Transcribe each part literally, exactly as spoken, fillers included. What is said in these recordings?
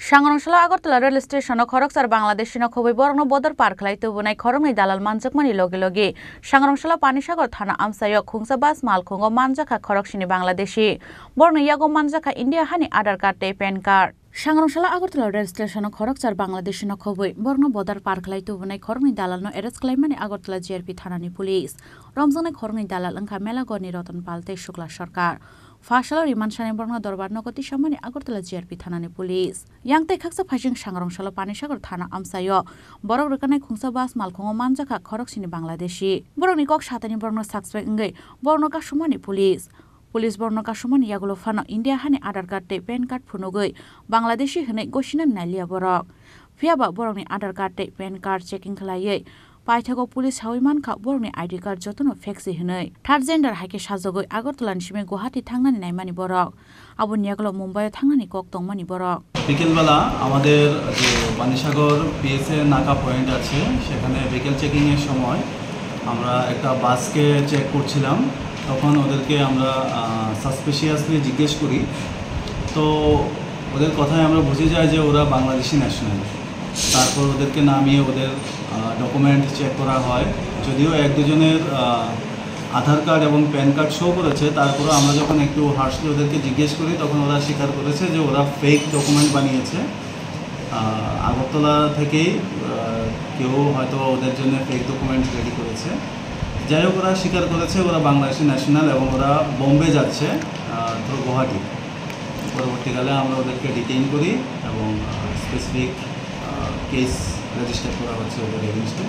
Sangrongsalo Agartala rail station-o khoroksa Bangladeshi-no khobwi borokno border par khlai tubunai khoroknwi dalal manjakmani logi logi Sangrongsalo Panisagar thana amchaio khungsa bus malkhungo manjakha khoroksini Bangladeshi. Borokni yago manjakha India hani Aadhaar card tei PAN card. Sangrongsalo Agartala rail station-o khoroksa Bangladeshi-no khobwi borokno border par khlai tubunai khoroknwi dalalno arrest khlaimani Agartala G R P thanani police. Romjaknai khoroknwi dalal wngkha Melagorni Roton Pal tei Shukla Sarkar. Phasalo remand sani borokno dorbar nogo tisamani Agartala G R P thanani police. Yang tei khaksa phaising Sangrongsalo Panisagar thana amchaio borok rwkanai khungsa bus malkhungo manjakha khoroksini Bangladeshi. Borokni kok satani borokno suspect wngwi borokno kasumani police. Police borokno kasumani yagulo phano India hani Aadhaar card tei PAN card phunugwi Bangladeshi hwnwi gosinani nailia borok. Phiyaba borokni Aadhaar card tei PAN card checking khlaiwi paithago police sawi mankha borokni I D card jotono fake se hwnwi. Third gender hai khe sajagwi Agartala ni simi Guwahati thangnani naimani borok. Aboni yagulo Mumbai o thangnani kok tongmani borok. বিকেলবেলা আমাদের যে পানিসাগর পিএসএ নাকা পয়েন্ট আছে, সেখানে ভেহিকেল চেকিংয়ের সময় আমরা একটা বাসকে চেক করছিলাম। তখন ওদেরকে আমরা সাসপিশিয়াসলি জিজ্ঞেস করি। তো ওদের কথায় আমরা বুঝে যাই যে ওরা বাংলাদেশি ন্যাশনাল। তারপর ওদেরকে নামিয়ে ওদের ডকুমেন্ট চেক করা হয়। যদিও এক দুজনের আহ, আধার কার্ড এবং প্যান কার্ড শো করেছে, তারপরেও আমরা যখন একটু হার্শলি ওদেরকে জিজ্ঞেস করি, তখন ওরা স্বীকার করেছে যে ওরা ফেক ডকুমেন্ট বানিয়েছে। আহ, আগরতলা থেকেই আহ, কেউ হয়তো ওদের জন্য ফেক ডকুমেন্ট রেডি করেছে। যাই হোক, ওরা স্বীকার করেছে ওরা বাংলাদেশি ন্যাশনাল এবং ওরা বোম্বে যাচ্ছে থ্রু গুয়াহাটি। পরবর্তীকালে আমরা ওদেরকে ডিটেইন করি এবং স্পেসিফিক কেস রেজিস্টার করা হচ্ছে ওদের এগেনস্টে।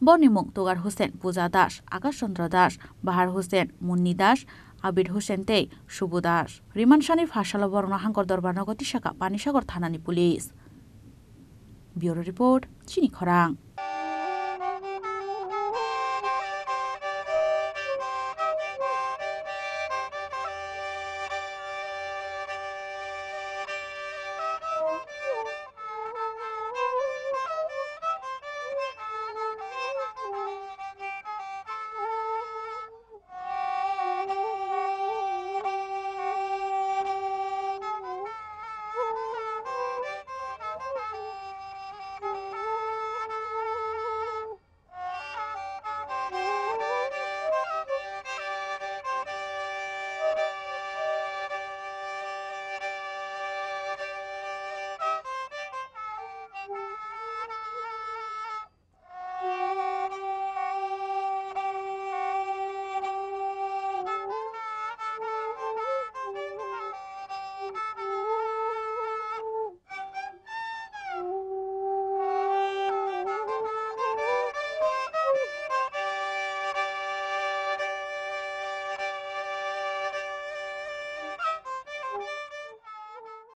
Borokni mung Tugar Hussain, Puja Das, Akash Chandra Das, Bahar Hussain, Munni Das, Abid Hussain tei Subhu Das. Remand sani phasalo borokno Hangkor Dorbar nogo tisakha Panisagar thanani police. Bureau Report, Chini Khorang.